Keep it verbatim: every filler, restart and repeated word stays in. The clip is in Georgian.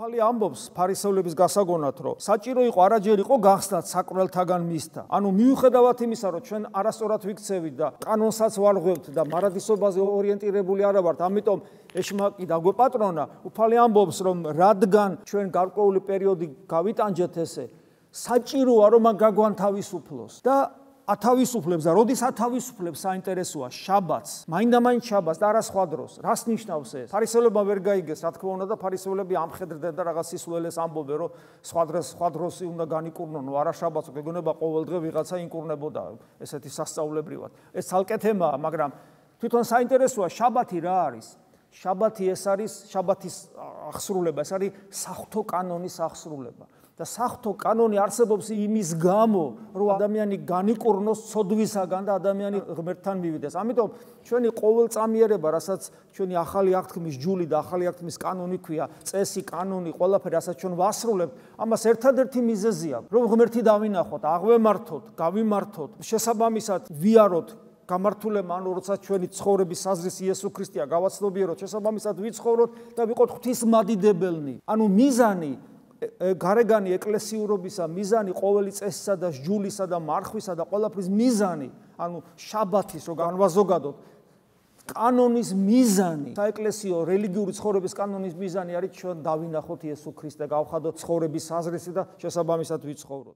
უფალი ამბობს ფარისევლების გასაგონად, რომ საჭირო იყო არაჯერ იყო გახსნათ საკვლელთაგან მისთა. ანუ მიუხედავად იმისა, რომ ჩვენ არასწორად ვიქცევით და კანონსაც ვარღვევთ და მარადისობაზე ორიენტირებული არა ვართ, ამიტომ ეშმაკი დაგვეპატრონა, უფალი ამბობს, რომ რადგან ჩვენ გარკვეული პერიოდი გავიტანჯეთ ესე, საჭიროა რომ მაგ გაგვანთავისუფლოს და ათავისუფლებს და როდის ათავისუფლებს საინტერესოა შაბათს, მაინდა-მაინც შაბათს და არა სხვა დროს. რას ნიშნავს ეს? ფარისევლებმა ვერ გაიგეს, რა თქმა უნდა და ფარისევლები ამხედრდნენ და რაღაც სისულელეს ამბობენ, რომ სხვა დროს სხვა დროსი უნდა განიკურნონ, არა შაბათს, გეგონება ყოველ დღე ვიღაცა ინკურნებოდა ესეთი სასწაულებრივად. ეს ცალკე თემაა, მაგრამ თვითონ საინტერესოა შაბათი რა არის? შაბათი ეს არის შაბათის აღსრულება, ეს არის საღვთო კანონის აღსრულება. და საღვთო კანონი არსებობს იმის გამო, რომ ადამიანი განიკურნოს ცოდვისაგან და ადამიანი ღმერთთან მივიდეს. ამიტომ ჩვენი ყოველწამიერება, რასაც ჩვენი ახალი აღთქმის ჯული და ახალი აღთქმის კანონი ქვია, წესი, კანონი, ყველაფერი, რასაც ჩვენ ვასრულებთ, ამას ერთადერთი მიზეზია, რომ ღმერთი დავინახოთ, აღვემართოთ, გავიმართოთ, შესაბამისად ვიაროთ გამართულება, ანუ როცა ჩვენი ცხოვრების საზრისი იესო ქრისტეა, გავაცნობიეროთ, შესაბამისად ვიცხოვროთ და ვიყოთ ღვთისმადიდებელნი. ანუ მიზანი გარეგანი ეკლესიურობისა მიზანი ყოველი წესისა და ჯულისა და მარხვისა და ყველაფრის მიზანი, ანუ შაბათის რო განვაზოგადოთ, კანონის მიზანი, საეკლესიო რელიგიური ცხოვრების კანონის მიზანი არის ჩვენ დავინახოთ იესო ქრისტე, გავხადოთ ცხოვრების საზრისი და შესაბამისად ვიცხოვროთ.